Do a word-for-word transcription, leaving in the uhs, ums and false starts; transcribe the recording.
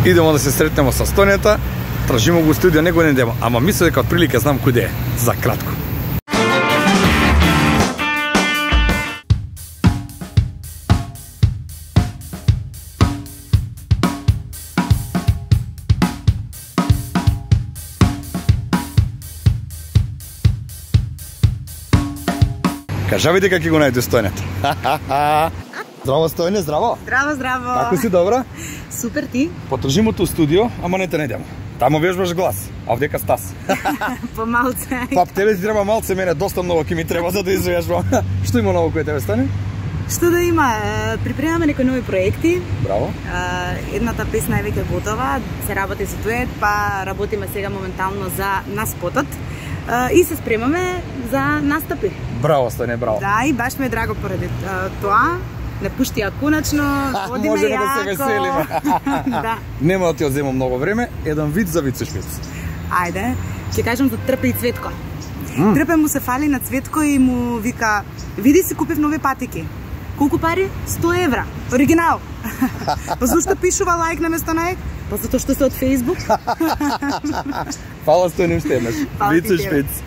Идемо да се сретнемо со Стојнета, тражимо го студио, него не идемо, ама мислам дека од прилика знам куде е, за кратко. Кажавите како ќе го најде Стојнета. Здраво Стојне, здраво. Здраво, здраво. Како си, добра? Супер, ти? Потržimo у студио, ама не те најдемо. Тамо вежбаш глас, а овдека Стас. Помалце. Па тебе ти треба малце, мене доста многу ќе ми треба за да извежбам. Што има ново кој тебе Стојне? Што да има? Припремаме некои нови проекти. Браво. Едната песна е веќе готова, се работи за дует, па работиме сега моментално за на спотот. И се спремаме за настапи. Браво Стојне, браво. Да, и баш ме е драго поради тоа. Не пуштија конечно, одиме можеме јако. да се веселиме. Да. Нема да ти одземам многу време, еден вид за Вицешпиц. Ајде, ќе кажам за Трпе и Цветко. Mm. Трпе му се фали на Цветко и му вика: "Види си, купив нови патики." Колку пари? сто евра. Оригинал. Па зашто пишува лайк на место на ек? Па затоа што се од Facebook. Фала Стојне уште еднаш. Фала ти, Вицешпиц.